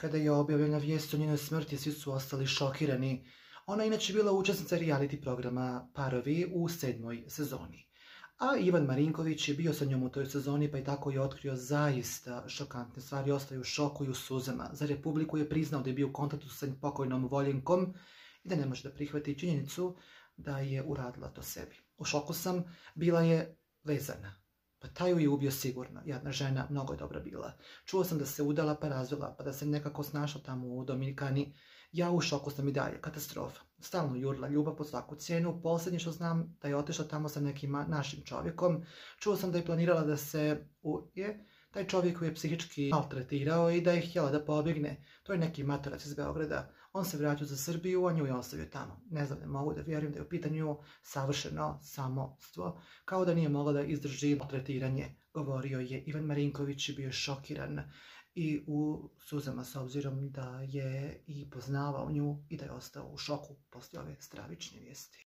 Kada je objavljena vijest o njenoj smrti, svi su ostali šokirani. Ona je inače bila učesnica reality programa Parovi u 7. sezoni. A Ivan Marinković je bio sa njom u toj sezoni, pa i tako je otkrio zaista šokantne stvari, ostao je u šoku i u suzama. Za Republiku je priznao da je bio u kontaktu sa pokojnom Voljenkom i da ne može da prihvati činjenicu da je uradila to sebi. U šoku sam, bila je vezana. Pa taj ju je ubio sigurno. Jedna žena, mnogo je dobra bila. Čuo sam da se udala pa razvela, pa da se nekako snašla tamo u Dominikani. Ja u šoku sam i dalje, katastrofa. Stalno jurila ljubav po svaku cijenu. Posljednje što znam da je otišla tamo sa nekim našim čovjekom. Čuo sam da je planirala da se uje. Taj čovjek ju je psihički maltretirao i da je htjela da pobjegne. To je neki materac iz Beograda. On se vratio za Srbiju, a nju je ostavio tamo. Ne znam, ne mogu da vjerujem da je u pitanju savršeno samostvo. Kao da nije mogla da izdrži maltretiranje, govorio je Ivan Marinković i bio šokiran i u suzama s obzirom da je i poznavao nju i da je ostao u šoku poslije ove stravične vijesti.